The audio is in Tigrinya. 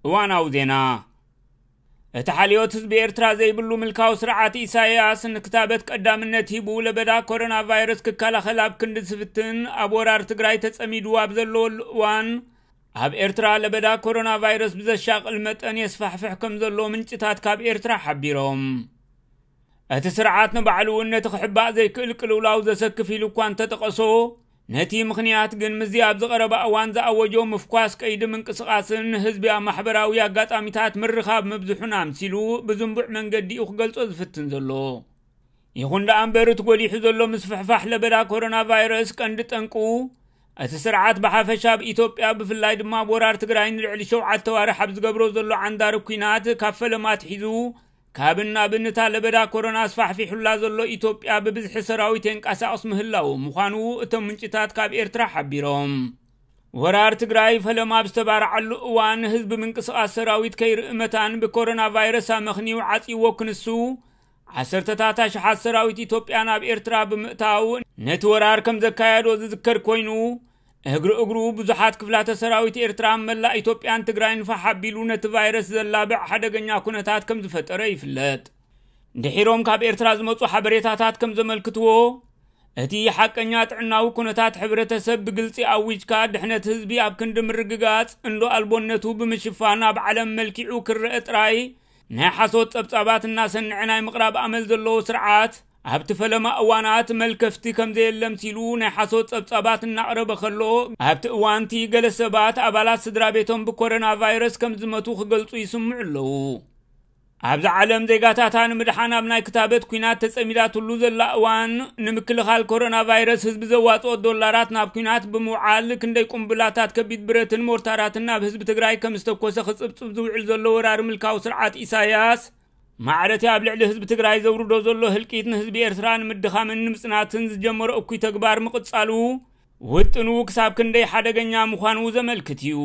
እዋናዊ ዜና። እቲ ሓልዮት ህዝቢ ኤርትራ ዘይብሉ ምልካዊ ስርዓት ኢሳያስ ንክታበት ቀዳምነት ሂቡ ለበዳ ኮሮና ቫይረስ ክከላኸል ኣብ ክንዲ ዝፍትን፣ ኣብ ወራር ትግራይ ተጸሚዱ ኣብ ዘለወሉ እዋን፣ ኣብ ኤርትራ ለበዳ ኮሮና ቫይረስ ብዘሻቕል መጠን የስፋሕፍሕ ከም ዘሎ ምንጭታት ካብ ኤርትራ ሓቢሮም። እቲ ስርዓት ንባዕሉ እውን ነቲ ክሕባእ ዘይክእል ቅልውላው ዘሰክፍ ኢሉ እኳ እንተጠቐሶ፣ ነቲ ምኽንያት ግን ምስዚ ኣብ ዝቐረባ እዋን ዝኣወጆ ምፍኳስ ቀይዲ ምንቅስቓስን ህዝቢ ኣብ ማሕበራዊ ኣጋጣሚታት ምርኻብ ምብዝሑን ኣምሲሉ ብዝንቡዕ መንገዲ እዩ ክገልጾ ዝፍትን ዘሎ። ይኹን ደኣ እምበር፣ እቲ ጎሊሑ ዘሎ ምስፍሕፋሕ ለበዳ ኮሮና ቫይረስ ቀንዲ ጠንቁ፣ እቲ ስርዓት ብሓፈሻ ኣብ ኢትዮጵያ፣ ብፍላይ ድማ ኣብ ወራር ትግራይ ንልዕሊ ሸውዓተ ዋርሕ ኣብ ዝገብሮ ዘሎ ዓንዳሪ ኲናት፣ ካብ ፈለማ ኣትሒዙ ካብን ናብን እታ ለበዳ ኮሮና ኣስፋሕፊሑላ ዘሎ ኢትዮጵያ ብብዝሒ ሰራዊት የንቀሳቕስ ምህላዉ ምዃኑ እቶም ምንጭታት ካብ ኤርትራ ሓቢሮም። ወራር ትግራይ ፈለማ ኣብ ዝተባርዓሉ እዋን፣ ህዝቢ ምንቅስቓስ ሰራዊት ከይርኢ መታን ብኮሮና ቫይረስ ኣመኽንዩ ዓጽይዎ ክንሱ፣ ዓሰርተታት ኣሽሓት ሰራዊት ኢትዮጵያ ናብ ኤርትራ ብምእታው ነቲ ወራር ከም ዘካየዶ ዝዝከር ኮይኑ፣ እግሪ እግሩ ብዙሓት ክፍላተ ሰራዊት ኤርትራ ኣብ መላእ ኢትዮጵያን ትግራይን ፋሕ ኣቢሉ ነቲ ቫይረስ ዘላብዕ ሓደገኛ ኩነታት ከም ዝፈጠረ ይፍለጥ። ድሒሮም ካብ ኤርትራ ዝመጹ ሓበሬታታት ከም ዘመልክትዎ፣ እቲ ሓቀኛ ጥዕናዊ ኩነታት ሕብረተሰብ ብግልጺ ኣዊጅካ፣ ድሕነት ህዝቢ ኣብ ክንዲ ምርግጋጽ፣ እንዶ ኣልቦነቱ ብምሽፋን ኣብ ዓለም መልኪዑ ክረአ ጥራይ ናይ ሓሶት ጸብጻባት እናሰንዐ ናይ ምቕራብ ኣመል ዘለዎ ስርዓት፣ ኣብቲ ፈለማ እዋናት መልከፍቲ ከም ዘየለ ኣምሲሉ ናይ ሓሶት ጸብጻባት እናቕረበ ከሎ፣ ኣብቲ እዋንቲ ገለ ሰባት ኣባላት ስድራ ቤቶም ብኮሮና ቫይረስ ከም ዝመቱ ክገልጹ ይስምዑ ኣለዉ። ኣብዚ ዓለም ዜጋታታ ንምድሓን ኣብ ናይ ክታበት ኲናት ተጸሚዳትሉ ዘላ እዋን፣ ንምክልኻል ኮሮና ቫይረስ ህዝቢ ዘዋጽኦ ዶላራት ናብ ኲናት ብምውዓል፣ ክንደይ ቁምብላታት ከቢድ ብረትን ሞርታራትን ናብ ህዝቢ ትግራይ ከም ዝተኮሰ ክጽብጽብ ዝውዕል ዘሎ ወራሪ ምልካዊ ስርዓት ኢሳያስ፣ ማዕረቲ ኣብ ልዕሊ ህዝቢ ትግራይ ዘውርዶ ዘሎ ህልቂት ንህዝቢ ኤርትራ ንምድኻምን ንምጽናትን ዝጀመሮ እኩይ ተግባር ምቕጻሉ፣ ውጥኑ ክሳብ ክንደይ ሓደገኛ ምዃኑ ዘመልክት እዩ።